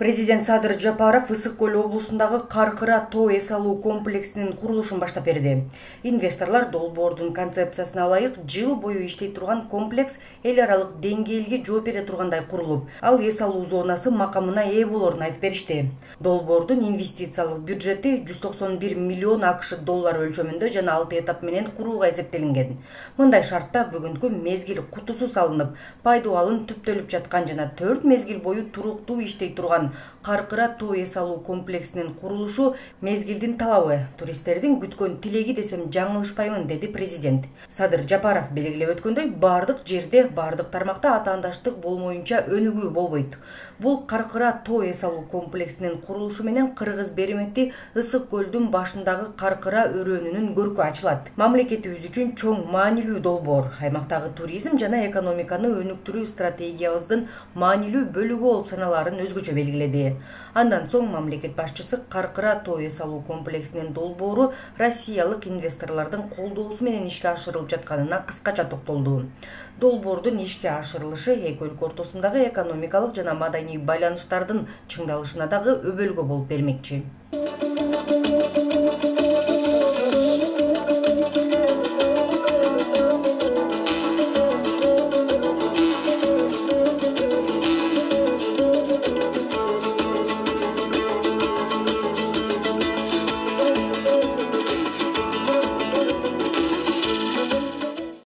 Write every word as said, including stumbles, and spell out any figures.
Президент Садыр Жапаров Ысык көл облусундагы Каркыра тоо эс алуу комплексинин курулушун баштап берди. Инвесторлор долбоордун концепциясына ылайык жыл бою иштей турган комплекс эл аралык деңгээлге жооп бере тургандай курулуп, ал эс алуу зонасы макамына ээ болоорун айтып беришти. Долбоордун инвестициялык бюджети жүз токсон бир миллион акш доллары өлчөмүндө жана алты этап менен курууга эсептелинген. Мындай шартта бүгүнкү мезгил кутусу салынып, пайдуу алым түптөлүп жаткан жана төрт мезгил бою туруктуу иштей турган Каркыра тоо эс алуу комплексинин курулушу мезгилдин талабы, туристтердин күткөн тилеги десем жаңылышпаймын, деди президент. Садыр Жапаров белгилеп өткөндөй, бардык жерде, бардык тармакта атаандаштык болмоюнча өнүгүү болбойт. Бул Каркыра тоо эс алуу комплексинин курулушу менен Кыргыз Береметти Ысык көлдүн башындагы Каркыра өрөөнүнүн көркү ачылат. Мамлекетибиз үчүн чоң маанилүү долбоор, аймактагы туризм жана экономиканы өнүктүрүү стратегиябыздын маанилүү бөлүгү болуп саналаарын өзгөчө белгиледи. Андан соң мамлекет башчысы Каркыра тоо эс алуу комплексинин долбоору россиялык инвесторлордун колдоосу менен ишке ашырылып жатканына кыскача токтолду. Долбоордун ишке ашырылышы эки өлкө ортосундагы экономикалык жана маданий байланыштардын чыңдалышына дагы өбөлгө болуп бермекчи.